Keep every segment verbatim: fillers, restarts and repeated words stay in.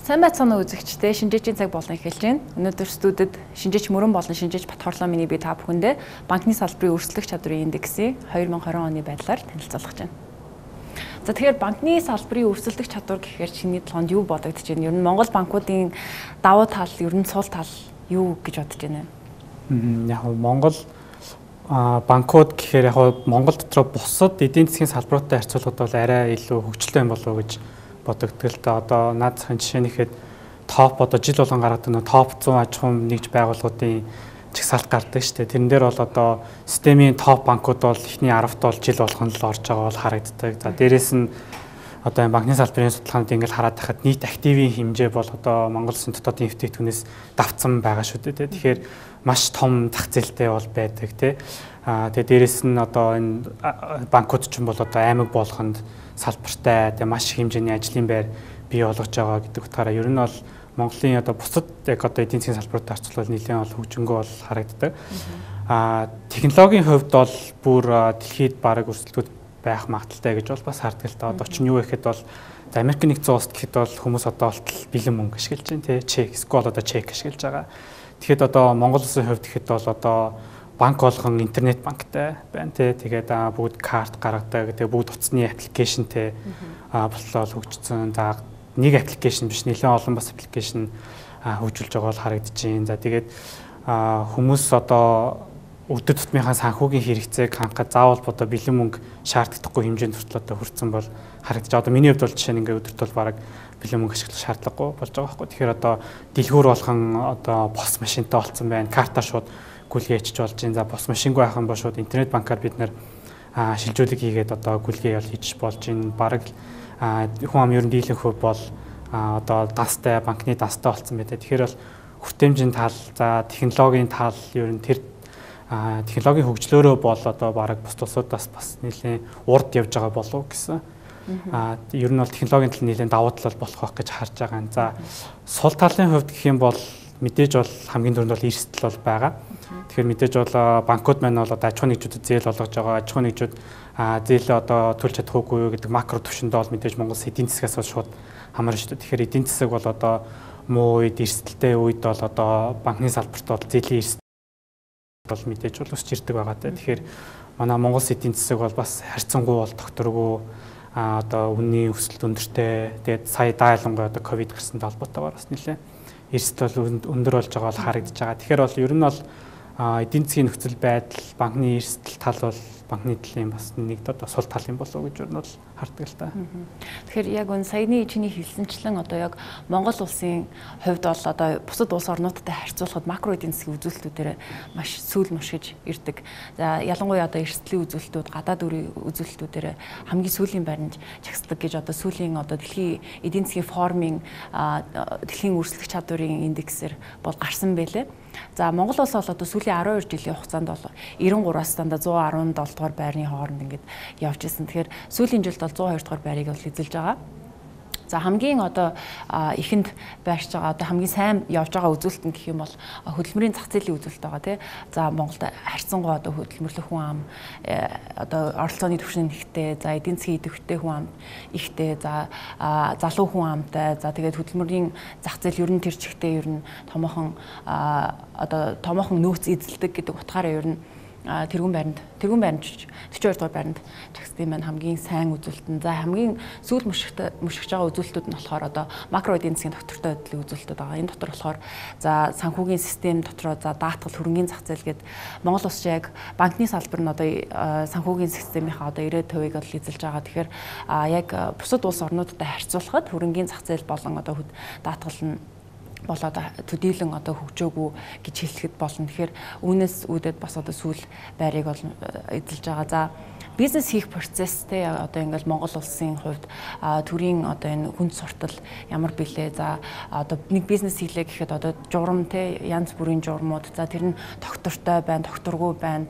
Сайн байцгаана үзэгчдээ, шинжээчийн цаг болон эхэлж байна. Өнөөдөр студид шинжээч Мөрөн болон шинжээч Батхорлоо миний би та бүхэндээ банкны салбарын өрсөлдөх чадварын индексийн две тысячи двадцать оны байдлаар танилцуулах байна. За тэгэхээр банкны салбарын өрсөлдөх чадвар гэхээр чиний толгойд юу бодогдож байна? Ер нь Монгол банкуудын давуу тал, ер нь сул тал юу гэж бодож байна? Яг Монгол банкуд гэхээр яг Монгол дотор бусад эдийн засгийн салбаруудтай харьцуулахад бол арай илүү хөгжилтэй юм болов уу гэж бодогдтол та одоо наад захын жишээ нь ихэд топ одоо жил болгон гаргадаг нэг топ one hundred аж ахуйн нэгж байгууллагуудын чагсаалт гардаг шүү дээ. Тэрэн дээр бол одоо системийн топ банкуд бол эхний ten-т бол жил болгон л орж байгаа бол харагддаг. За дээрэс нь одоо банкны салбарын судалгаанд ингээл хараад тахад нийт активийн хэмжээ бол одоо Монгол Улсын дотоодын эвтэйтгэнээс давцсан байгаа шүү дээ. Тэгэхээр маш том зах зээлтэй бол байдаг тий. Аа тэгээ дээрэс нь одоо энэ банкуд ч юм бол одоо аймаг болгонд салбартай тэгээ маш их хэмжээний ажлын байр бий болгож байгаа гэдэг утгаараа ер нь бол Монголын одоо бусад яг одоо эдийн засгийн салбаруудтай харьцуулбал нэлээд бол хөгжингөө бол харагддаг. Аа технологийн хувьд бол бүр дэлхийд бараг өрсөлдөхөд байх магадaltaй гэж бол бас харддаг л та. Одоо ч юу гэхэд бол Америк нэгдсэн улсад гэхэд бол хүмүүс одоо болтол бэлэн мөнгө ашиглаж байна тий. Чек, скол одоо чек ашиглаж байгаа. Тэгэхэд одоо Монгол улсын хувьд гэхэд бол одоо банк болгон интернет банктай байна тий. Тэгээд бүгд карт гаргадаг. Тэгээд бүгд утасны аппликейшнтэй боллоо хөгжсөн. За нэг аппликейшн биш нэлээд олон бас аппликейшн хөгжүүлж байгаа бол харагдаж байна. За тэгээд хүмүүс одоо өдөр тутмынхаа санхүүгийн хэрэгцээг хангахад заавал одоо бэлэн мөнгө шаарддаггүй хэмжээнд хүртэл одоо хүрсэн бол харагдаж байгаа. Одоо миний хувьд бол жишээ нь ингээд өдөрт бол бараг бэлэн мөнгө ашиглах шаардлагагүй болж байгаа байхгүй. Тэгэхээр одоо дэлгүүр болгон одоо пос машинтай болсон байна. Картаар шууд гүйлгээ хийчих болж байна. За пос машингүй байх юм бол шууд интернет банкаар бид нэр шилжүүлэг хийгээд одоо гүйлгээ ял хийж болж байна. Бараг хүн ам ер нь дийлэнх хөв бол одоо дастай банкны дастай болсон байдаг. Тэгэхээр бол хүртээмжийн тал, за технологийн тал ер нь тэр технологийн хөгжлөөрөө бол одоо бараг бус улсуудаас бас нэлээд урд явж байгаа болов гэсэн. Аа ер нь бол технологийн тал нэлээд давуу тал болох байх гэж харж байгаа. За сул талын хувьд гэх юм бол мэдээж бол хамгийн түрүүнд бол эрсдэл бол байгаа. Тэгэхээр мэдээж бол банкуд маань бол одоо аж ахуйн нэгжүүдэд зээл олгож байгаа. Аж ахуйн нэгжүүд зээлээ одоо төлж чадахгүй юу гэдэг макро түвшиндээ бол мэдээж Монгол эдийн засгаас бол шууд хамаарна шүү дээ. Тэгэхээр эдийн засаг бол одоо муу үед эрсдэлтэй үед бол одоо банкны салбарт бол зээлийн эрсдэл бол мэдээж бол өсч ирдэг байгаа те. Тэгэхээр манай Монгол эдийн засаг бол бас харьцангуй бол докторгүй а одоо үнийн өсөлт өндөртэй. Тэгээд сая даалангуй одоо ковид гарсантай холбоотойгоор бас нэлээ эрсдэл бол өндөр болж байгаа бол харагдаж байгаа. Тэгэхээр бол ер нь бол эдийн засгийн нөхцөл байдал, банкны эрсдэл тал бол банкны талын бас нэг одоо сул тал юм болов уу гэж ер нь бол харддаг л та. Тэгэхээр яг энэ саяны чиний хэлсэнчлэн одоо яг Монгол улсын хувьд бол одоо бусад улс орнуудтай харьцуулахад макро эдийн засгийн үзүүлэлтүүдээр маш сүүл мушгиж ирдэг. За ялангуяа одоо эрсдлийн үзүүлэлтүүд, гадаад үрийн үзүүлэлтүүдээр хамгийн сүүлийн байранд чагсдаг гэж одоо сүүлийн одоо дэлхийн эдийн засгийн форумын дэлхийн өрсөлдөх чадварын индексээр бол гарсан байлээ. За Монгол улс бол одоо сүүлийн twelve жилийн хугацаанд бол ninety-three-аас дандаа one hundred seventy дугаар байрны хооронд ингээд явж ирсэн. Тэгэхээр сүүлийн жилд бол one oh two дугаар байрыг бол эзэлж байгаа. За хамгийн одоо ихэнд байрч байгаа одоо хамгийн сайн явж байгаа үзүүлэлт нь гэх юм бол хөдөлмөрийн зах зээлийн үзүүлэлт байгаа тий. За Монголд харьцангуй одоо хөдөлмөрлөх хүн ам одоо оролцооны түвшин ихтэй, за эдийн засгийн идэвхтэй хүн ам ихтэй, за залуу хүн амтай, за тэгээд хөдөлмөрийн зах зээл ер нь тэр чигтээ ер нь томоохон одоо томоохон нөөц эзэлдэг гэдэг утгаараа ер нь тэрүүн байранд тэрүүн байранд forty-two дугаар байранд чагсдсан маань хамгийн сайн үзүүлэлт нь. За хамгийн сүүл мушигтай мушигж байгаа үзүүлэлтүүд нь болохоор одоо макро эдийн засгийн доктортой байдлын үзүүлэлтүүд байгаа. Энэ дотор болохоор за санхүүгийн систем дотроо за даатгал хөрөнгөний зах зээл гээд Монгол улс яг банкны салбар нь одоо санхүүгийн системийнхаа одоо ninety percent-ийг бол эзэлж байгаа. Тэгэхээр яг бусад улс орнуудтай харьцуулахад хөрөнгөний зах зээл болон одоо даатгал нь болоод төдийлөн одоо хөгжөөгүй гэж хэлэхэд болно. Тэгэхээр үүнээс үүдээд бас одоо сүүл байрыг бол эзэлж байгаа. За бизнес хийх процесстэй одоо ингээл Монгол улсын хувьд төрийн одоо энэ хүнд суртал ямар билээ. За одоо нэг бизнес хийлээ гэхэд одоо журам те янз бүрийн журмууд за тэр нь доктортой байна, докторгүй байна.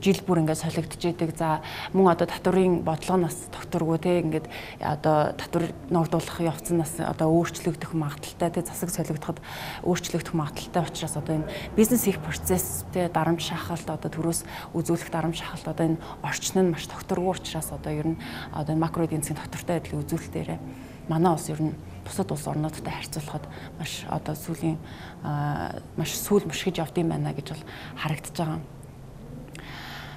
Жил бүр ингээд солигдож идэг. За мөн одоо татврын бодлогоноос докторгүй те ингээд одоо татвар ногдуулах явцнаас одоо өөрчлөгдөх магадaltaй те засаг солигдоход өөрчлөгдөх магадaltaй учраас одоо энэ бизнес хийх процесстэй дарамт шахалт одоо төрөөс үзүүлэх дарамт шахалт одоо энэ орчин нь докторгүй учраас одоо ер нь одоо макро эдийн засгийн доктортой байдлын үзүүлэлтээр манай улс ер нь бусад улс орнуудтай харьцуулахад маш одоо сүүлийн маш сүүл мөшгөж явдсан байна гэж бол харагдаж байгаа.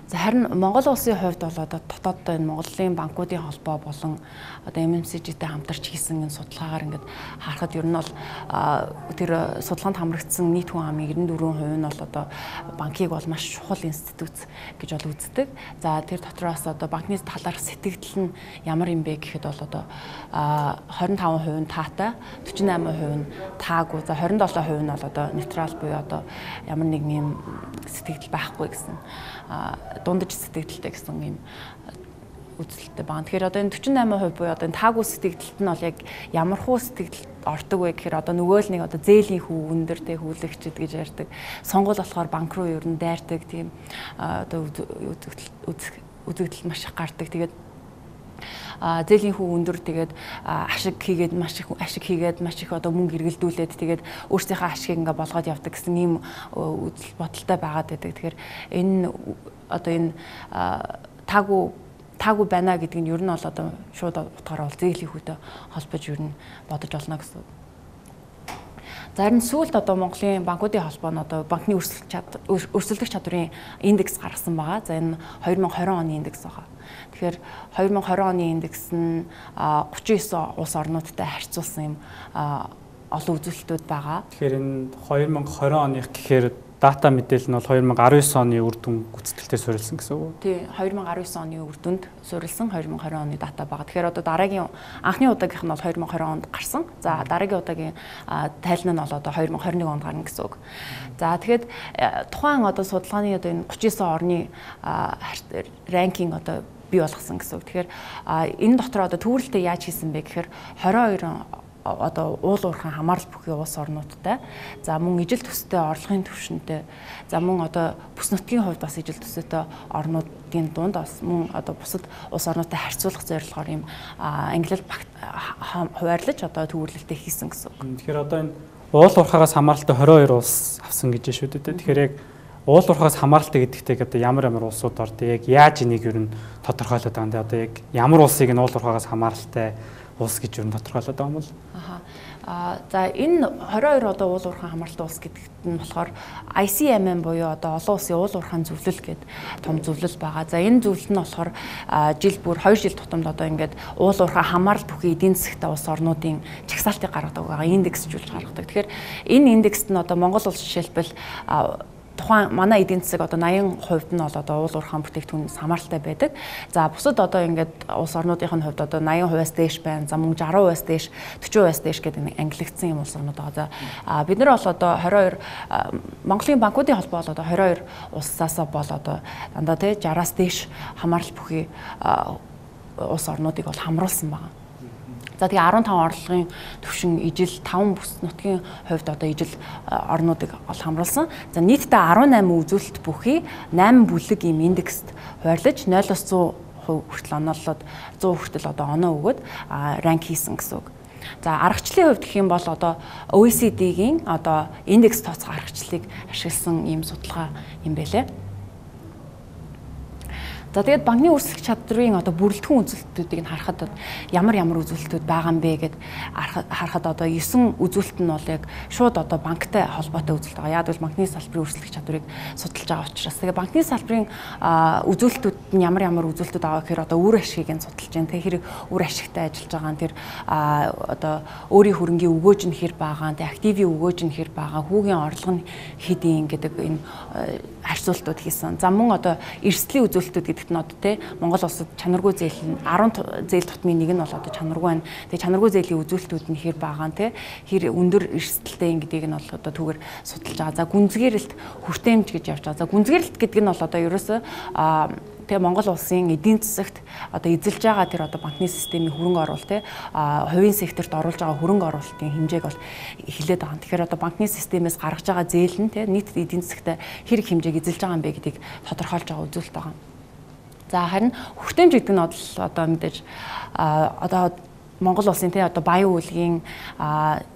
За харин Монгол улсын хувьд бол одоо дотооддоо энэ Монголын банкуудын холбоо болон одоо эм эм си жи-тэй хамтарч хийсэн энэ судалгаагаар ингээд харахад ер нь бол тэр судалгаанд хамрагдсан нийт хүн амын найман дөрвөн хувь нь бол одоо банкыг бол маш чухал институт гэж бол үздэг. За тэр дотроос одоо банкны талаарх сэтгэгдэл нь ямар юм бэ гэхэд бол одоо хорин таван хувь нь таатай, төрөв и восемь хувь нь таагүй. За хорин долоо хувь нь бол одоо нейтрал буюу одоо ямар нэг юм сэтгэгдэл байхгүй гэсэн дундаж сэтгэгдэлтэй гэсэн юм үзэлтэй байна. Тэгэхээр одоо энэ төрөв и восемь хувь буюу одоо энэ таагүй сэтгэгдэлт нь бол яг ямар хуу сэтгэгдэлт ордог вэ гэхээр одоо нөгөө л нэг одоо зээлийн хүү өндөр тэ хүлэгчд гэж ярьдаг. Сонгол болохоор банк руу ер нь дайрдаг тийм одоо үзэгдэл маш их гардаг. Тэгээд а зээлийн хүү өндөр тэгээд ашиг хийгээд маш их ашиг хийгээд маш их одоо мөнгө эргэлдүүлээд тэгээд өөрсдийнхөө ашигыг ингээ болгоод явдаг гэсэн ийм үзэл бодолтой байгаад байдаг. Тэгэхээр энэ одоо энэ таагүй таагүй байна гэдэг нь ер нь бол одоо шууд утгаараа бол зээлийн хүүтэй холбож ер нь бодож олно гэсэн. Зарим сүүлд одоо Монголын банкуудын холбоо нь одоо банкны өрсөлдөх чадварын индекс гаргасан байгаа. За энэ две тысячи двадцать оны индекс байгаа. Тэгэхээр две тысячи двадцать оны индекс нь тридцать девять улс орнуудтай харьцуулсан юм олон үзүүлэлтүүд байгаа. Тэгэхээр энэ две тысячи двадцать оных гэхээр дата мэдээлэл нь бол две тысячи десять оны үр дүн гүйцэтгэлтэй суурилсан гэсэн үг үү? Тий, две тысячи десять оны үр дүнд суурилсан две тысячи двадцать оны дата байгаа. Тэгэхээр одоо дараагийн анхны удаагийнх нь бол две тысячи двадцать онд гарсан. За дараагийн удаагийн тайлан нь бол одоо две тысячи двадцать one онд гарна гэсэн үг. За тэгэхэд тухайн одоо судалгааны одоо энэ тридцать девять орны ранкинг одоо бий болгосон гэсэн үг. Тэгэхээр энэ дотор одоо төвөрлөлтөө яаж хийсэн бэ гэхээр двадцать two одоо уул уурхайн хамаарал бүхий улс орнуудтай. За мөн ижил төстэй орлогын түвшинтэй. За мөн одоо бүс нутгийн хувьд бас ижил төстэй орнуудын дунд бас мөн одоо бусад улс орнуудтай харьцуулах зорилгоор юм англи хуваарлаж одоо төвөрлөлтөө хийсэн гэсэн үг. Тэгэхээр одоо энэ уул уурхаагаас хамааралтай двадцать two улс авсан гэж шүү дээ. Тэгэхээр яг уул уурхаагаас хамааралтай гэдэгтэй одоо ямар ямар улсууд ордог, яг яаж энийг ер нь тодорхойлоод байгаа юм бэ? Одоо яг ямар улсыг нь уул уурхаагаас хамааралтай улс гэж юу тодорхойлоод байгаа юм бол. Аха. А за энэ двадцать two одоо уул уурхайн хамааралтай улс гэдэгт нь болохоор ай си эм эм буюу одоо олон улсын уул уурхайн зөвлөл гэдэг том зөвлөл байгаа. За энэ зөвлөл нь болохоор жил бүр two жил тутамд одоо ингээд уул уурхайн хамаарал бүхий эдийн засгтай улс орнуудын чагсаалтыг гаргадаг байгаа. Индексжүүлж гаргадаг. Тэгэхээр энэ индекст нь одоо Монгол улс жишээлбэл тухайн манай эдийн засаг одоо eighty percent нь бол одоо уул уурхайн бүтээгдэхүүнээс хамааралтай байдаг. За бусад одоо ингээд улс орнуудын хувьд одоо eighty percent-аас дээш байна. За мөн sixty percent-аас дээш, forty percent-аас дээш гэдэг ангилагдсан юм улс орнууд байгаа. За бид нар бол одоо twenty-two Монголын банкуудын холбоо бол одоо twenty-two улсаас бол одоо дандаа тий sixty-аас дээш хамаарал бүхий улс орнуудыг бол хамруулсан байна. За тэгээ fifteen орлогын түвшин ижил five бүс нутгийн хувьд одоо ижил орнуудыг ол хамруулсан. За нийтдээ eighteen үзүүлэлт бүхий eight бүлэг ийм индекст хуваарлаж zero-аас one hundred хүртэл оноолоод one hundred хүртэл одоо оноо өгөөд ранк хийсэн гэсэн үг. За аргачлалын хувьд гэх юм бол одоо о и си ди-гийн одоо индекс тооцох аргачлалыг ашигласан ийм судалгаа юм байлээ. За тэгээд банкны үүсгэх чадрын одоо бүрэлдэхүүн үзүүлэлтүүдийг нь харахад ямар ямар үзүүлэлтүүд байгаа юм бэ гэд харахад одоо nine үзүүлэлт нь бол яг шууд одоо банктай холбоотой үзүүлэлт байгаа. Яг л банкны салбарын үүсгэх чадварыг судалж байгаа учраас тэгээд банкны салбарын үзүүлэлтүүд нь ямар ямар үзүүлэлтүүд байгаа гэхээр одоо үр ашгийг нь судалж байна. Тэгээд хэрэг үр ашигтай ажиллаж байгаа нь тэр одоо өөрийн хөрөнгийн өгөөж нь хэр байгаа, тэгээд активийн өгөөж нь хэр байгаа, хүүгийн орлого нь хэдийн гэдэг энэ харьцуултууд хийсэн. За мөн одоо эрсдлийн үзүүлэлтүүд гэдэг нь одоо тий Монгол улсад чанаргүй зээл нь ten зээл тутмын нэг нь бол одоо чанаргүй байна. Тэгээ чанаргүй зээлийн үзүүлэлтүүд нь хэр байгаа нь тий хэр өндөр эрсдэлтэй гэдгийг нь бол одоо түүгээр судалж байгаа. За гүнзгийрэлт хүртээмж гэж явж байгаа. За гүнзгийрэлт гэдэг нь бол одоо ерөөсөө тэгээ Монгол улсын эдийн засагт одоо эзэлж байгаа тэр одоо банкны системийн хөрөнгө оруулалт тий хувийн секторт оруулж байгаа хөрөнгө оруулалтын хэмжээг бол эхлээд байгаа. Тэгэхээр одоо банкны системээс гаргаж байгаа зээл нь тий нийт эдийн засагт хэрэг хэмжээг эзэлж байгаа юм бэ гэдгийг тодорхойлж байгаа үзүүлэлт байгаа. За харин хүртээмж гэдэг нь одоо мэдээж одоо Монгол улсын тий одоо баян үйлгийн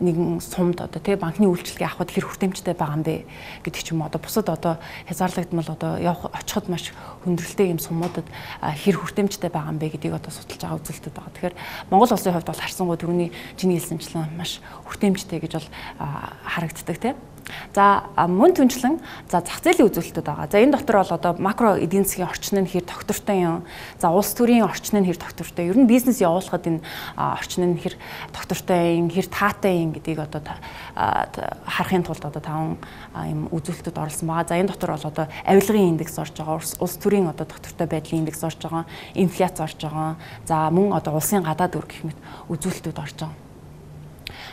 нэгэн сумд одоо тий банкны үйлчилгээ авахд хэр хүртээмжтэй байгаа юм бэ гэдэг ч юм уу одоо бусад одоо хязгаарлагдмал одоо явах очиход маш хүндрэлтэй юм сумуудад хэр хүртээмжтэй байгаа юм бэ гэдгийг одоо судалж байгаа үзүүлэлтүүд байгаа. Тэгэхээр Монгол улсын хувьд бол харсангуй түрүүний чиний хэлсэнчлэн маш хүртээмжтэй гэж бол харагддаг тий. За мөн түнчлэн за зах зээлийн үзүүлэлтүүд байгаа. За энэ дотор бол одоо макро эдийн засгийн орчин нь хэр тогтвортой юм. За улс төрийн орчин нь хэр тогтвортой. Ер нь бизнес явуулахад энэ орчин нь хэр тогтвортой юм, хэр таатай юм гэдгийг одоо харахын тулд одоо таван юм үзүүлэлтүүд оруулсан байгаа. За энэ дотор бол одоо авилгын индекс орж байгаа. Улс төрийн одоо тогтвортой байдлын индекс орж байгаа. Инфляц орж байгаа. За мөн одоо улсын гадаад үр гэх мэт үзүүлэлтүүд орж байгаа.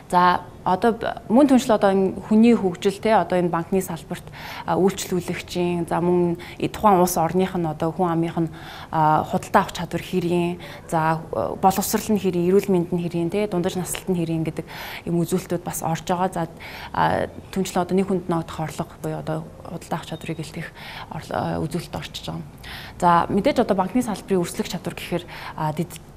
За одоо мөн түншил одоо хүний хөгжил те одоо энэ банкны салбарт үйлчлүүлэгчийн за мөн тухайн улс орных нь одоо хүн амынх нь худалдаа авах чадвар хэрийн за боловсрал нь хэрийн эрүүл мэнд нь хэрийн те дундаж наслалт нь хэрийн гэдэг юм үзүүлэлтүүд бас орж байгаа. За түншлэн одоо нэг хүнд ногдох орлого буюу одоо худалдаа авах чадварыг илтгэх үзүүлэлт орчиж байгаа. За мэдээж одоо банкны салбарын өрсөлдөх чадвар гэхээр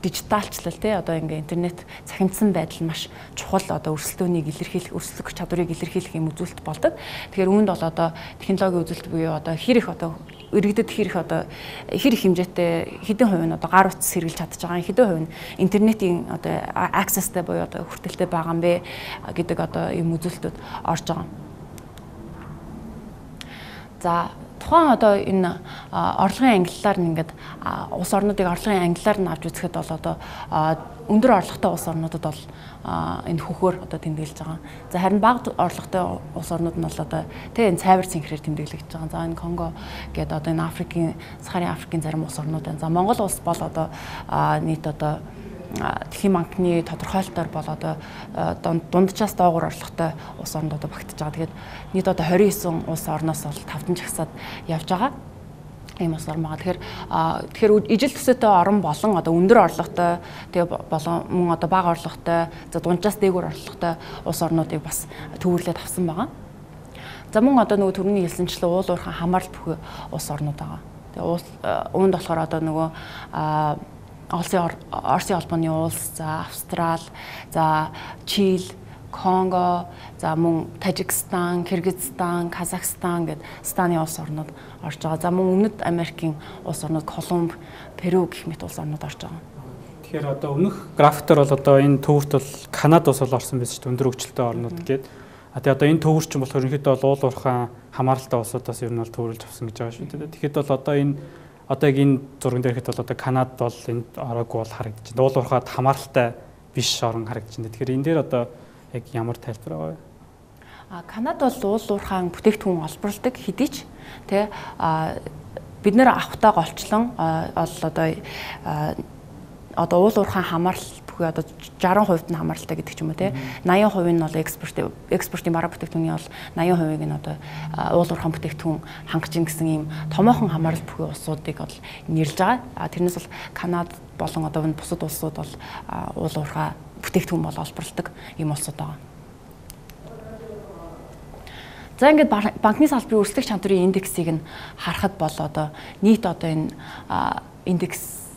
дижиталчлал те одоо ингээ интернет цахимдсан байдал маш чухал одоо өрсөлдөөнийг илэрхийлэх өрсөлдөх чадварыг илэрхийлэх юм үзүүлэлт болдог. Тэгэхээр үүнд бол одоо технологийн үзүүлэлт буюу одоо хэр их одоо иргэдэд хэр их одоо хэр их хэмжээтэй хэдэн хувь нь одоо гар утас сэргийлж чадж байгаа, хэдэн хувь нь интернетийн одоо accessтэй буюу одоо хүртэлтэй байгаа юм бэ гэдэг одоо юм үзүүлэлтүүд орж байгаа. За тухайн одоо энэ орлогын ангиллаар нь ингээд улс орнуудыг орлогын ангиллаар нь авч үзэхэд бол одоо өндөр орлоготой улс орнуудад бол энэ хөхөөр одоо тэмдэглэж байгаа. За харин бага орлоготой улс орнууд нь бол одоо тэг энэ цайвар цэнхрээр тэмдэглэж байгаа. За энэ Конго гэдэг одоо энэ Африкийн Сахарын Африкийн зарим улс орнууд байна. За Монгол улс бол одоо нийт одоо Дэлхийн банкны тодорхойлолтоор бол одоо дунджаас доогуур орлоготой улс орнууд одоо багтаж байгаа. Тэгээд нийт одоо двадцать нine улс орноос бол тавдан жагсаад явж байгаа. Ийм улс орн байгаа. Тэгэхээр тэгэхээр ижил төсөөтэй орн болон одоо өндөр орлоготой тэгээ болон мөн одоо бага орлоготой за дунджаас дээгүүр орлоготой улс орнуудыг бас төвөрлөд авсан байгаа. За мөн одоо нөгөө төрний хэлсэнчлэн уул уурхай хамаарал бүхий улс орнууд байгаа. Тэгээ уул үүнд болохоор одоо нөгөө Орсын холбооны улс, за Австрал, за Чили, Конго, за мөн Тажикстан, Кыргызстан, Казахстан гэдэг станы улс орнууд орж байгаа. За мөн Өмнөд Америкийн улс орнууд Колумб, Перу гэх мэт улс орнууд орж байгаа. Тэгэхээр одоо өмнөх графиктор бол одоо энэ төвөрт бол Канада улс бол орсон байсан шүү дээ, өндөр хөгжилтэй орнууд гээд. А тэгээ одоо энэ төвөрч юм болохоор ерөнхийдөө бол уул уурхай хамааралтай улсуудаас ер нь бол төвөрлж авсан гэж байгаа шүү дээ. Тэгэхэд бол одоо энэ одоо яг энэ зурган дээр хэд бол одоо Канад бол энд ороогүй бол харагдаж байна. Уул уурхайд хамааралтай биш орон харагдаж байна. Тэгэхээр энэ дээр одоо яг ямар тайлбар байгаа вэ? А Канад бол уул уурхай бүтээгдэхүүн олборладаг хэдий ч тий а бид нэр авахтаа голчлон ол одоо одоо уул уурхай хамаарал бүхий одоо sixty percent нь хамааралтай гэдэг ч юм уу тий eighty percent нь бол экспорт экспортын бараа бүтээгдэхүүний бол eighty percent нь одоо уул уурхай бүтээгдэхүүн хангаж ин гэсэн ийм томоохон хамаарал бүхий улсуудыг бол нэрлж байгаа. А тэрнээс бол Канад болон одоо энэ бусад улсууд бол уул уурхай бүтээгдэхүүн бол олборладаг ийм улсууд байгаа. За ингээд банкны салбарын өрсөлдөх чадварын индексийг нь харахад бол одоо нийт одоо энэ индекс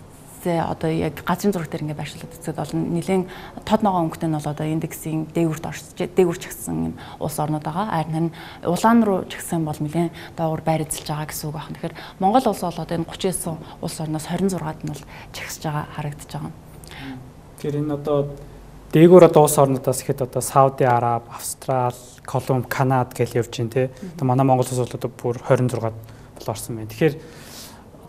одоо яг газрын зураг дээр ингээд байршуулад үзэхэд бол нэлээд тод ногоон өнгөтэй нь бол одоо индексийн дээгүүрт орж дээгүүр чигсэн улс орнууд байгаа. Харин улаан руу чигсэн бол нэлээд доогуур байр эзэлж байгаа гэсэн үг байна. Тэгэхээр Монгол улс бол одоо энэ thirty-nine улс орноос twenty-sixд нь бол чигсэж байгаа харагдаж байгаа. Тэгэхээр энэ одоо дээгүүр одоо улс орнуудаас ихэд одоо Сауди Араб, Австрал, Колумб, Канад гэж явж байна тий. Одоо манай Монгол улс бол одоо бүр twenty-sixд бол орсон байна. Тэгэхээр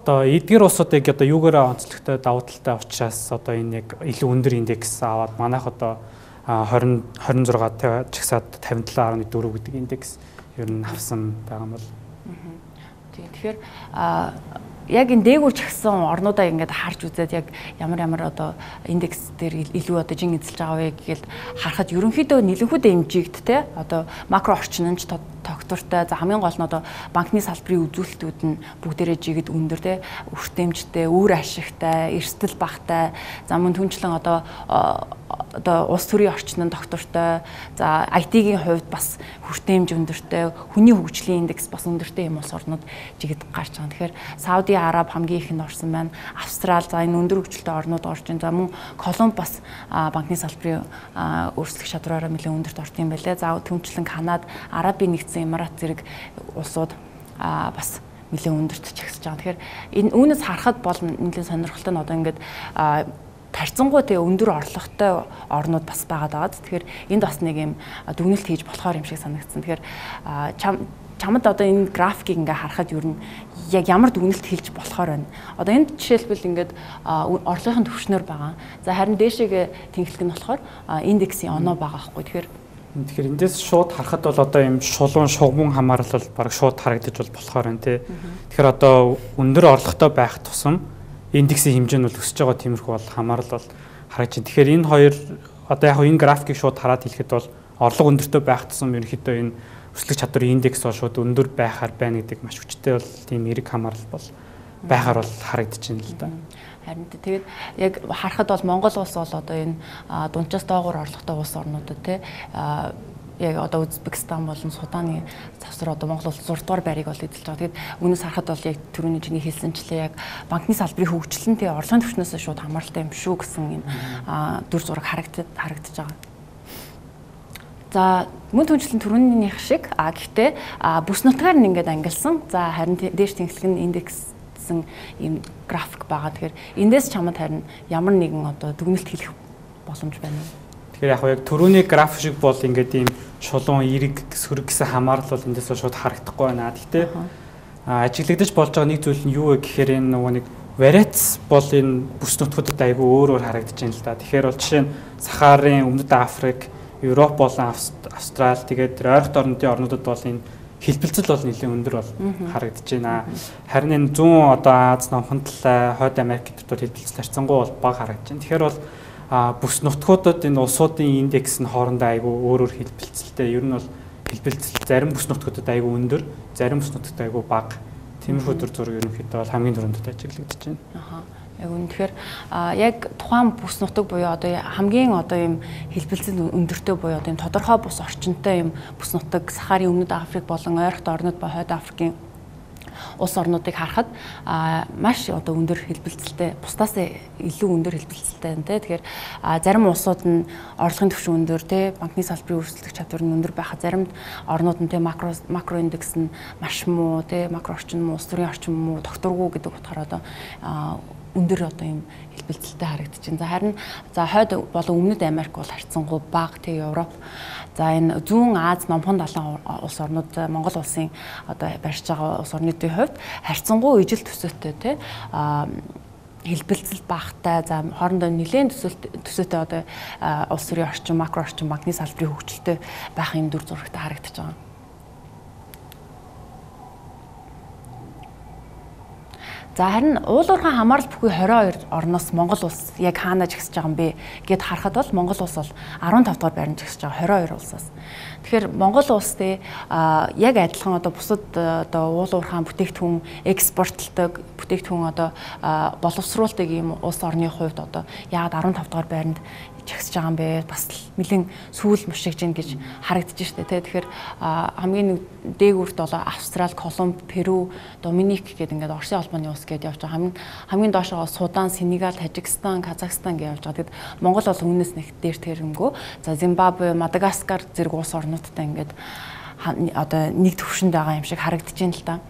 одоо эдгээр улсуудыг одоо юугаараа онцлогтой давуу талтай учраас одоо энэ яг илүү өндөр индекс аваад манайх одоо twenty twenty-six чагсаад fifty-seven point four гэдэг индекс ер нь авсан байгаа юм бол. Тэгэхээр яг энэ дээгүүр чагсан орнуудаа ингээд харж үзээд яг ямар ямар одоо индекс дээр илүү одоо жин эзэлж байгаа вэ гэхэл харахад ерөнхийдөө нэлэнхүү дэмжигд те одоо макро орчинч тогтвортой за хамгийн гол нь одоо банкны салбарын үзүүлэлтүүд нь бүгдээрээ жигэд өндөр те өртөмжтэй, үр ашигтай, эрсдэл багтай за мөн түнчлэн одоо одоо улс төрийн орчинд доктортой, за ай ти-ийн хувьд бас хүртээмж өндөртэй, хүний хөгжлийн индекс бас өндөртэй юм улс орнууд жигд гарч байгаа. Тэгэхээр Сауди Араб хамгийн их нь орсон байна. Австрал за энэ өндөр хөгжилтэй орнууд орж байна. За мөн Колумб бас банкны салбарын өөрчлөх чадвараараа нэлээд өндөрт орсон юм байлээ. За түнчлэн Канада, Арабын нэгдсэн Эмират зэрэг улсууд бас нэлээд өндөрт чагсаж байгаа. Тэгэхээр энэ үүнээс харахад бол нэлээд сонирхолтой нь одоо ингээд тарцсангуй тэгээ өндөр орлоготой орнууд бас байгаад байгаа. Тэгэхээр энд бас нэг юм дүгнэлт хийж болохоор юм шиг санагдсан. Тэгэхээр чамд одоо энэ графикийг ингээ харахад ер нь яг ямар дүгнэлт хэлж болохоор байна. Одоо энд жишээлбэл ингээд орлогын төвшнөр байгаа. За харин дээшээгээ тэнхлэг нь болохоор индексийн оноо байгаа байхгүй. Тэгэхээр тэгэхээр эндээс шууд харахад бол одоо юм шулуун шугамн хамаарлал баг шууд харагдаж бол болохоор байна тий. Тэгэхээр одоо өндөр орлоготой байх тусам индексийн хэмжээ нь бол өсөж байгаа тиймэрхүү бол хамаарал бол харагдаж байна. Тэгэхээр энэ хоёр одоо яг энэ графикийг шууд хараад хэлэхэд бол орлого өндөртэй байх тусам ерөнхийдөө энэ өсөлт чадварын индекс бол шууд өндөр байхаар байна гэдэг маш хүчтэй бол тийм эерэг хамаарал бол байхаар бол харагдаж байна л да. Харин тэгээд яг харахад бол Монгол улс бол одоо энэ дунджаас доогуур орлоготой улс орнуудад тий яг одоо Узбекистан болон Суданы завсар одоо Монгол улс зураг дугаар байрыг бол эзэлж байгаа. Тэгээд үүнээс харахад бол яг түрүүний чиний хэлсэнчлээ яг банкны салбарын хөгжлөн тий орлогын түвшнээс шууд хамааралтай юм шүү гэсэн энэ дүр зураг харагдаж харагдаж байгаа. За мөн түнчлэн түрүүнийх шиг а гэхдээ бүс нутгаар нь ингээд ангилсан. За харин дээш тэнхлэг нь индекссэн ийм график байгаа. Тэгэхээр эндээс чамд харин ямар нэгэн одоо дүгнэлт хэлэх боломж байна уу? Тэгэхээр яг яг түрүүний график шиг бол ингээд ийм шулуун эерэг сөрөг гэсэн хамаарал бол эндээс шууд харагдахгүй байна. Гэхдээ ажиглагдаж болж байгаа нэг зүйл нь юу вэ гэхээр энэ нөгөө нэг вариац бол энэ бүс нутгуудад айгүй өөр өөр харагдаж байна л да. Тэгэхээр бол жишээ нь Сахарын, Өмнөд Африк, Европ болон Австрал тэгээд ойролт орнуудын орнуудад бол энэ хэлбэлцэл бол нэлээд өндөр бол харагдаж байна. Харин энэ зүүн одоо Аз номхон талаа, Хойд Америкт бол хэлбэлцэл харьцангуй бол бага харагдаж байна. Тэгэхээр бол бүс нутгуудад энэ улсуудын индекс нь хоорондоо айгүй өөр өөр хэлбэлцэлтэй. Ер нь бол хэлбэлцэл зарим бүс нутгуудад айгүй өндөр, зарим бүс нутгад айгүй бага. Тиймэрхүү төр зураг ерөнхийдөө бол хамгийн түрүүнд ажиглагдаж байна. Аха. Яг үнэхээр яг тухайн бүс нутаг буюу одоо хамгийн одоо юм хэлбэлцэл өндөртэй буюу одоо юм тодорхой бус орчинтой юм бүс нутаг Сахарын Өмнөд Африк болон ойролт орнууд ба Хойд Африкийн улс орнуудыг харахад маш одоо өндөр хэлбэлцэлтэй бусдаас илүү өндөр хэлбэлцэлтэй байна те. Тэгэхээр зарим улсууд нь орлогын түвшин өндөр те, банкны салбарын өрсөлдөх чадвар нь өндөр байхад зарим орнууд нь те макро макро индекс нь маш муу те, макро орчин муу, улс төрийн орчин муу, докторгүй гэдэг утгаараа одоо өндөр одоо юм хэлбэлцэлтэй харагдаж байна. За харин за Хойд болон Өмнөд Америк бол харьцангуй бага те, Европ. За энэ зүүн Аз номхон далайн улс орнууд Монгол улсын одоо барьж байгаа улс орнуудын хувьд харьцангуй ижил төсөөтэй те хэлбэлцэл багтай, за хоорондоо нэлээд төсөөтэй төсөөтэй одоо улс төрийн орчин, макро орчин, банкны салбарын хөгжилтэй байх юм дүр зурагтай харагдаж байгаа. За харин уулуурхай хамаарал бүхий хорин хоёр орноос Монгол улс яг хаана жигсэж байгаа юм бэ гэд харахад бол Монгол улс бол арван тав дугаар байранд жигсэж байгаа хорин хоёр улсаас. Тэгэхээр Монгол улс те яг адилхан одоо бусад одоо уулуурхай бүтээгдэхүүн экспортлдог бүтээгдэхүүн одоо боловсруулдаг ийм улс орны хувьд одоо яг арван тав дугаар байранд жигсэж байгаа юм бэ? Бас нэлээд сүүл мушигж гин гэж харагдаж штэ тий. Тэгэхээр хамгийн дээгүүрт бол Австрал, Колумб, Перу, Доминик гэдэг ингээд Оросын албаны улс гэдээ явж байгаа. Хамгийн хамгийн доошоо Судан, Сенегал, Тажикстан, Казахстан гэж явж байгаа. Тэгэд Монгол бол үүнээс нэг дээр тэрэмгүй. За Зимбабве, Мадагаскар зэрэг улс орнуудтай ингээд одоо нэг төвшөнд байгаа юм шиг харагдаж байна л да.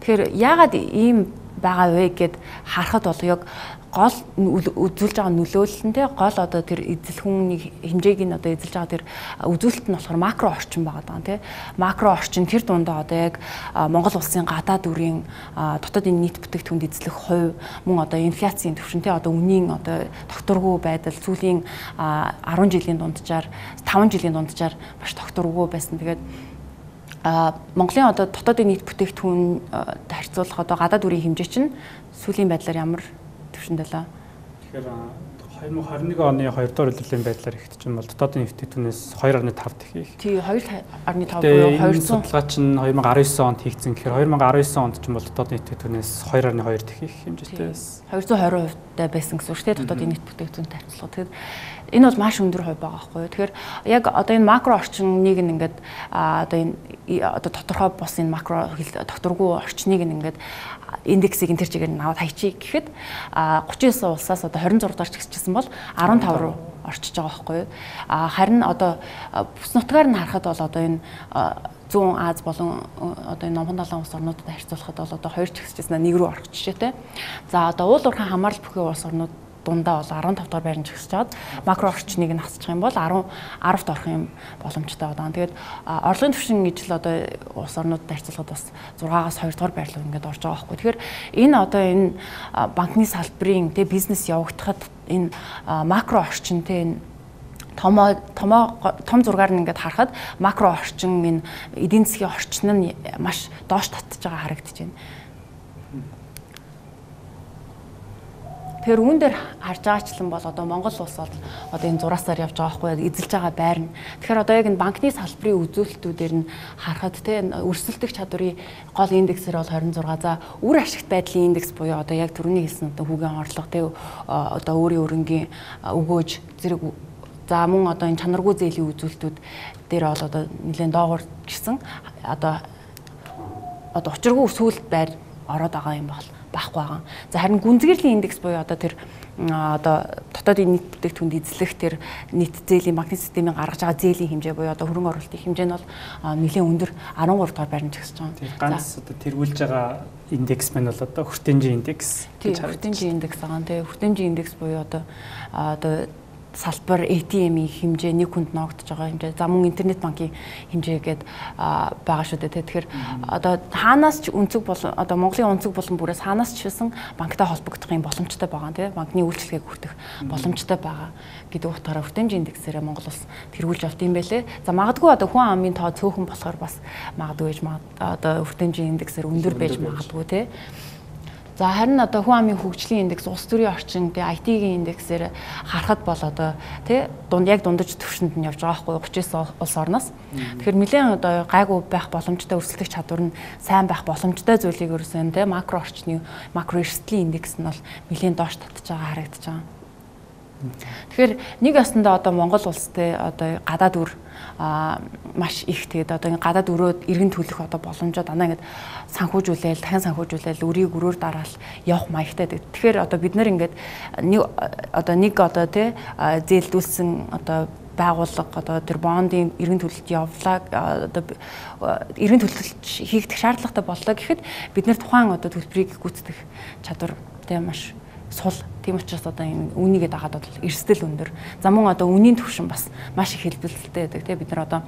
Тэгэхээр яагаад ийм байгаа вэ гэд харахад бол яг гол үзүүлж байгаа нөлөөлөлтөнтэй гол одоо тэр эзэлхүүний хэмжээг нь одоо эзэлж байгаа тэр үзүүлэлт нь болохоор макро орчин байгаа даа тий. Макро орчин тэр дундаа одоо яг Монгол улсын гадаад үрийн дотоодын нийт бүтээгдэхүүнд эзлэх хувь мөн одоо инфляцийн түвшин тий одоо үнийн одоо докторгүй байдал сүүлийн арван жилийн дунджаар таван жилийн дунджаар маш докторгүй байсан. Тэгээд Монголын одоо дотоодын нийт бүтээгдэхүүн харьцуулах одоо гадаад үрийн хэмжээ чинь сүүлийн байдлаар ямар төвшөнд байлаа. Тэгэхээр две тысячи двадцать один оны хоёр дахь улирлын байдлаар ихтэж бол дотоодын нэвтэгтүүнээс two point five дахин их. Тий two point five буюу хоёр судалгаа чинь two thousand nineteen онд хийгдсэн. Тэгэхээр two thousand nineteen онд ч юм бол дотоодын нэвтэгтүүнээс two point two дахин их хэмжээтэй байсан. two hundred twenty хувьтай байсан гэсэн үг шүү дээ дотоодын нийт бүтээгдэхүүнтэй харьцуулахад. Тэгэхээр энэ бол маш өндөр хувь байгаа байхгүй юу. Тэгэхээр яг одоо энэ макро орчныг ингээд одоо энэ одоо тодорхой бос энэ макро докторгүй орчныг ингээд индексийг энэ төр чигээр нь аваад хайчий гэхэд тридцать девять улсаас одоо двадцать six дорч гисчихсэн бол фifteen руу орчиж байгаа байхгүй юу. А харин одоо бүс нутгаар нь харахад бол одоо энэ зүүн Аз болон одоо энэ номхон далайн улс орнуудад харьцуулахад бол одоо хоёр ч гисчихсэн нэг рүү орох жишээтэй. За одоо уул уурхайн хамаарал бүхий улс орнууд дундаа бол fifteen дахь байранд жигсэж чад макро орчныг нь хасчих юм бол ten ten-т орох юм боломжтой байгаа. Тэгээд орлогын түвшин гэж л одоо улс орнуудад харьцуулахад бас six-аас two дахь байр руу ингээд орж байгаа байхгүй. Тэгэхээр энэ одоо энэ банкны салбарын тэ бизнес явагдахад энэ макро орчин тэ энэ том том том зургаар нь ингээд харахад макро орчин энэ эдийн засгийн орчин нь маш доош татж байгаа харагдаж байна. Тэгэхээр үүн дээр харж байгаачлан бол одоо Монгол улс бол одоо энэ зураасаар явж байгаа байхгүй эзэлж байгаа байр нь. Тэгэхээр одоо яг энэ банкны салбарын үзүүлэлтүүдээр нь харахад те өрсөлдөх чадварын гол индексээр бол twenty-six. За үр ашигт байдлын индекс буюу одоо яг түрүүний хэлсэн одоо хүүгийн орлого те одоо өөрийн өрөнгийн өгөөж зэрэг за мөн одоо энэ чанаргүй зээлийн үзүүлэлтүүд дээр бол одоо нэлээд доогуур гисэн одоо одоо учиргүй сүүлд байр ороод байгаа юм бол байхгүй байгаа. За харин гүнзгийрлийн индекс буюу одоо тэр одоо дотоодын нийт бүтээгдэхүүнд эзлэх тэр нийт зээлийн банкны системийн гаргаж байгаа зээлийн хэмжээ буюу одоо хөрөнгө оруулалтын хэмжээ нь бол нэлээд өндөр thirteen дахь байранд жигсэж байгаа. Тийм ганц одоо тэргүүлж байгаа индекс маань бол одоо хүртээмжийн индекс гэж харагдаж байна. Хүртээмжийн индекс байгаа. Тэгээ хүртээмжийн индекс буюу одоо одоо салбар эй ти эм-ийн хэмжээ нэг хүнд ноогдож байгаа хэмжээ. За мөн интернет банкийн хэмжээ гээд байгаа шүү дээ. Тэгэхээр одоо хаанаас ч өнцөг бол одоо Монголын өнцөг болон бүрээс хаанаас ч шилсэн банктай холбогдох юм боломжтой байгаа тийм банкны үйлчлэгийг хүртэх боломжтой байгаа гэдэг утгаараа хүртээмжийн индексээрээ Монгол улс тэргүүлж авт юм байлээ. За магадгүй одоо хүн амын тоо цөөхөн болохоор бас магадгүй гэж одоо хүртээмжийн индексээр өндөр байж магадгүй тийм. За харин одоо хүн амын хөгжлийн индекс, улс төрийн орчин, тэ ай ти-ийн индексээр харахад бол одоо тэ дунд яг дундаж төвшөнд нь явж байгаа байхгүй thirty-nine улс орноос. Тэгэхээр нэлээд одоо гайгүй байх боломжтой өрсөлдөх чадвар нь сайн байх боломжтой зүйлийг өрсөн тэ макро орчны макро эрсдлийн индекс нь бол нэлээд доош татж байгаа харагдаж байгаа. Тэгэхээр нэг ясандаа одоо Монгол улстай одоо гадаад үр а маш их тэгээд одоо энэ гадаад өрөөд иргэн төлөх одоо боломжоо дандаа ингээд санхүүжүүлээл дахин санхүүжүүлээл өрийг өрөөр дараал явах маягтай. Тэгэхээр одоо бид нар ингээд нэг одоо нэг одоо тий зээлдүүлсэн одоо байгууллага одоо тэр бондын иргэн төлөлт явлаа одоо иргэн төлөлт хийгдэх шаардлагатай боллоо гэхэд бид нар тухайн одоо төлбөрийг гүйцэтгэх чадвар тий маш сул. Тийм учраас одоо энэ үнийгээ дагаад бол эрсдэл өндөр. За мөн одоо үнийн түвшин бас маш их хэлбэлцэлтэй байдаг. Тэгээ бид нар одоо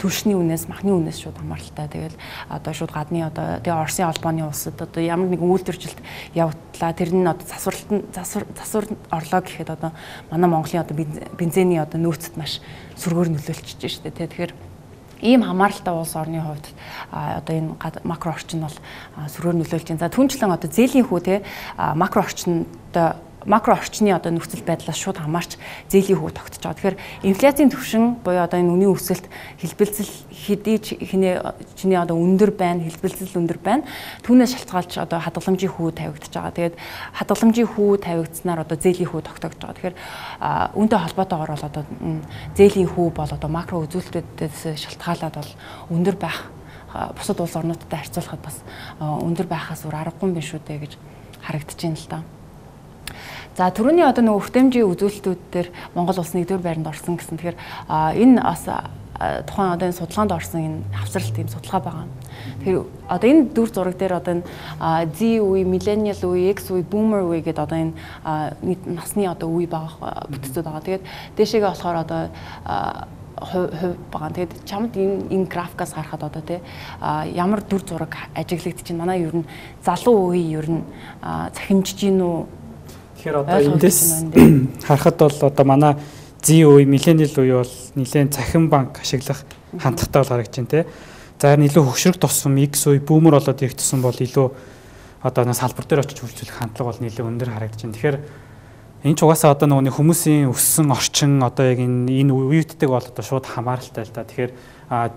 түвшний үнээс, махны үнээс шууд хамааралтай. Тэгэл одоо шууд гадны одоо тэгээ Оросын албаны улсад одоо ямар нэгэн үйлдвэржилт явууллаа. Тэр нь одоо засварлалт засвар засвар орлоо гэхэд одоо манай Монголын одоо бензиний одоо нөөцөд маш сүргээр нөлөөлчихөж штэ. Тэгэхээр ийм хамааралтай улс орны хувьд одоо энэ макро орчин бол сүргээр нөлөөлж байна. За түнчлэн одоо зээлийн хүү те макро орчинд макро орчны одоо нөхцөл байдлаас шууд хамаарч зээлийн хүү тогтож байгаа. Тэгэхээр инфляцийн түвшин буюу одоо энэ үнийн өсөлт хэлбэлцэл хэдий хинээ чиний одоо өндөр байна, хэлбэлцэл өндөр байна. Түүнээс шалтгаалж одоо хадгаламжийн хүү тавигдаж байгаа. Тэгээд хадгаламжийн хүү тавигдсанаар одоо зээлийн хүү тогтогдож байгаа. Тэгэхээр үүнтэй холбоотойгоор бол одоо зээлийн хүү бол одоо макро үзүүлэлтүүдээс шалтгаалаад бол өндөр байх бусад улс орнуудтай харьцуулахад бас өндөр байхаас өөр аргагүй юм шүү дээ гэж харагдаж байна л да. За түрүүний одоо нөгөө хүртээмжийн үзүүлэлтүүд дээр Монгол улс нэгдүгээр байранд орсон гэсэн. Тэгэхээр энэ бас тухайн одоо энэ судалгаанд орсон энэ хавцралт тийм судалгаа байгаа. Тэгэхээр одоо энэ дүр зураг дээр одоо энэ Z үе, millennial үе, X үе, boomer үе гэдэг одоо энэ насны одоо үе байгаа бүтцүүд байгаа. Тэгээд дээшээгээ болохоор одоо хувь байгаа. Тэгээд чамд энэ энэ графикаас харахад одоо тий ямар дүр зураг ажиглагдчих чинь манай ер нь залуу үе ер нь цахимжиж гин үү. Тэгэхээр одоо эндээс харахад бол одоо манай Z үе, millennial үе бол нэлээд цахим банк ашиглах хандлагатай бол харагдаж байна тий. За харин илүү хөгшрөх тусам X үе, boomer болоод ирэх тусам бол илүү одоо нэг салбар дээр очиж хөгжүүлэх хандлага бол нэлээд өндөр харагдаж байна. Тэгэхээр энэ ч угаасаа одоо нөгөө хүмүүсийн өссөн орчин одоо яг энэ энэ үеүүдтэйг бол одоо шууд хамааралтай л да. Тэгэхээр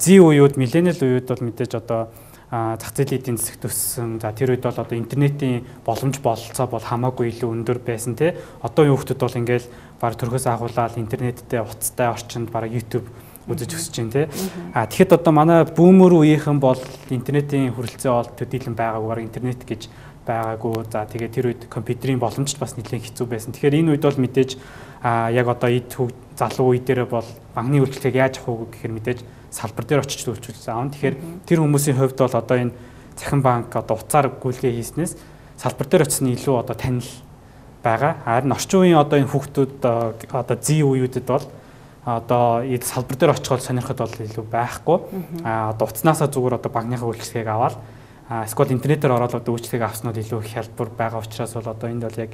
Z үеуд, millennial үеуд бол мэдээж одоо зах зээлийн эдийн засагт өссөн. За тэр үед бол одоо интернетийн боломж бололцоо бол хамаагүй илүү өндөр байсан тий. Одоо юу хүмүүс бол ингээл баг төрхөөс агуулаад интернеттэй уцтай орчинд баг YouTube үзэж өсөж байна тий. А тэгэхэд одоо манай бүүмөр үеийнхэн бол интернетийн хүрэлцээ бол төдийлөн байгаагаар интернет гэж байгаагүй. За тэгээд тэр үед компьютерийн боломжт бас нэлээд хэцүү байсан. Тэгэхээр энэ үед бол мэдээж а яг одоо эд залуу үе дээр бол банкны үйлчлэгийг яаж авах вэ гэхээр мэдээж салбар дээр очиж үйлчлүүлж аав. Тэгэхээр тэр хүмүүсийн хувьд бол одоо энэ цахим банк одоо уцаар гүйлгээ хийснээс салбар дээр очсон илүү одоо танил байгаа. Харин орчин үеийн одоо энэ хүүхдүүд одоо зэ үеүүдэд бол одоо энэ салбар дээр очиход сонирхоод бол илүү байхгүй. А одоо уцнаасаа зүгээр одоо банкныхаа үйлчлэгийг аваад эсвэл интернетээр ороод одоо үйлчлэгийг авснууд илүү их хялбар байгаа учраас бол одоо энд бол яг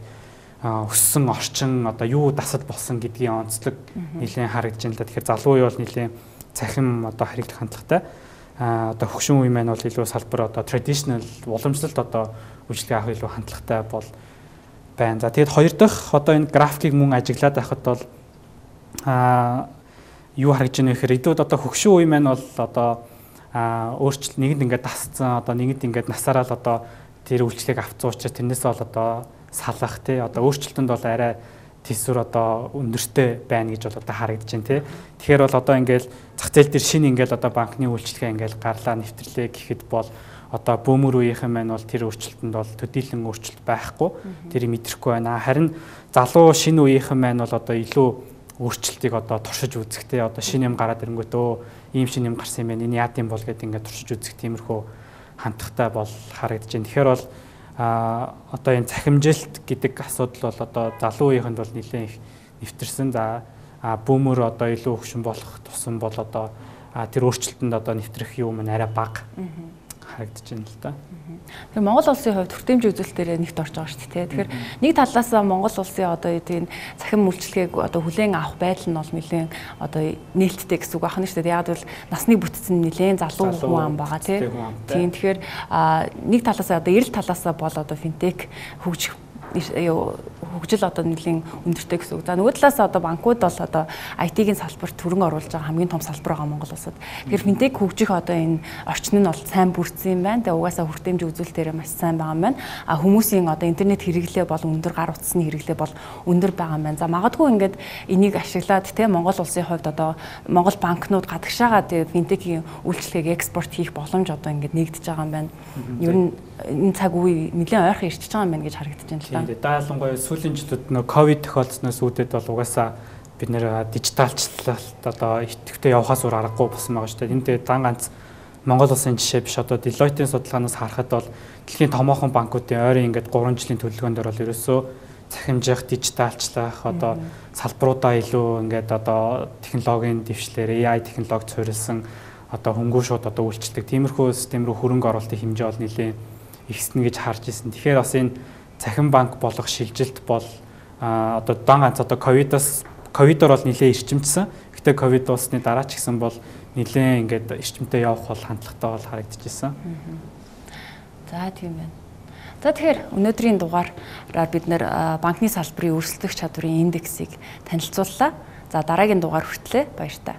өссөн орчин одоо юу дасал болсон гэдгийн онцлог нэлээд харагдаж байна л да. Тэгэхээр залуу үе бол нэлээд цахим одоо харигдах хандлагатай. А одоо хөгшин үе маань бол илүү салбар одоо traditional уламжлалт одоо үйлчлэг авах илүү хандлагатай бол байна. За тэгээд хоёр дахь одоо энэ графикийг мөн ажиглаад байхад бол а юу харагдж байна вэ гэхээр эдүүд одоо хөгшин үе маань бол одоо а өөрчлөлт нэгэнд ингээд дасцсан одоо нэгэнд ингээд насаараа л одоо тэр үйлчлэгийг авцсан учраас тэрнээс бол одоо салах тий одоо өөрчлөлтөнд бол арай төсвөр одоо өндөртэй байна гэж бол одоо харагдаж байна тий. Тэгэхээр бол одоо ингээл зах зээл дээр шинэ ингээл одоо банкны үйлчлэгээ ингээл гарлаа нэвтрлээ гэхэд бол одоо бөөмөр үеийнхэн маань бол тэр өөрчлөлтөнд бол төдийлөн өөрчлөлт байхгүй. Тэрийг мэдрэхгүй байна. Харин залуу шинэ үеийнхэн маань бол одоо илүү өөрчлөлтийг одоо туршиж үзэх тий одоо шинэ юм гараад ирэнгүүт өө ийм шинэ юм гарсан юм байна. Энэ яад юм бол гэдэг ингээд туршиж үзэх тиймэрхүү хандлагатай бол харагдаж байна. Тэгэхээр бол а одоо энэ цахимжилт гэдэг асуудал бол одоо залуу үеийнхэнд бол нэлээд их нэвтэрсэн. За бүүмөр одоо илүү хөгшин болох тусам бол одоо тэр өөрчлөлтөнд одоо нэвтрэх юм арай бага харагдаж байна л да. Тэгэхээр Монгол улсын хувьд хүртээмжийн үзүүлэлтээр нэгт орж байгаа шүү дээ. Тэгэхээр нэг талаас нь Монгол улсын одоо энэ цахим үйлчлэгийг одоо хүлээн авах байдал нь бол нэлээд одоо нээлттэй гэсэн үг байна шүү дээ. Яг бол насны бүтцэн нэлээд залуу хүн ам байгаа тийм. Тэгэхээр нэг талаас одоо эрэл талаас бол одоо финтек хөгжих хөгжил одоо нэлийн өндөртэй гэсэн үг. За нөгөө талаас одоо банкуд бол одоо ай ти-ийн салбарт хөрөнгө оруулж байгаа хамгийн том салбар байгаа Монгол улсад. Тэгэхээр финтек хөгжих одоо энэ орчин нь бол сайн бүрдсэн юм байна. Тэгээ угаасаа хүртээмжийн үзүүлэлтээр маш сайн байгаа юм байна. А хүмүүсийн одоо интернет хэрэглээ бол өндөр, гар утасны хэрэглээ бол өндөр байгаа юм байна. За магадгүй ингээд энийг ашиглаад те Монгол улсын хувьд одоо Монгол банкнууд гадагшаагаа тэгээ финтекийн үйлчлэгийг экспорт хийх боломж одоо ингээд нэгдэж байгаа юм байна. Ер нь энэ цаг үе нэлээд ойрхон ирчихэж байгаа юм байна гэж харагдаж байна л да. Даалангуй сүүлийн жилүүд нөө ковид тохиолдсноос үүдээд бол угаасаа бид нэр дижиталчлалт одоо идэвхтэй явахаас өөр аргагүй болсон байгаа шүү дээ. Энд дан ганц Монгол улсын жишээ биш одоо Deloitte-ийн судалгаанаас харахад бол дэлхийн томоохон банкуудын ойрын ингээд гурван жилийн төлөвлөгөөнд бол ерөөсөө цахимжих, дижиталчлах одоо салбаруудаа илүү ингээд одоо технологийн дэвшлэр эй ай технологи суурилсан одоо хөнгөө шууд одоо үйлчлдэг тиймэрхүү систем рүү хөрөнгө оруулалтын хэмжээ бол нэлээд ихснэ гэж харж ирсэн. Тэгэхээр бас энэ цахим банк болох шилжилт бол одоо дан ганц одоо ковидоос ковидор бол нэлээд ирчимжсэн. Гэтэ ковид дуусны дараа ч гэсэн бол нэлээд ингээд ирчимтэй явах бол хандлагатай бол харагдаж ирсэн. За тийм байна. За тэгэхээр өнөөдрийн дугаараар бид нэр банкны салбарын өрсөлдөх чадварын индексийг танилцууллаа. За дараагийн дугаар хүртлээр баяр таа.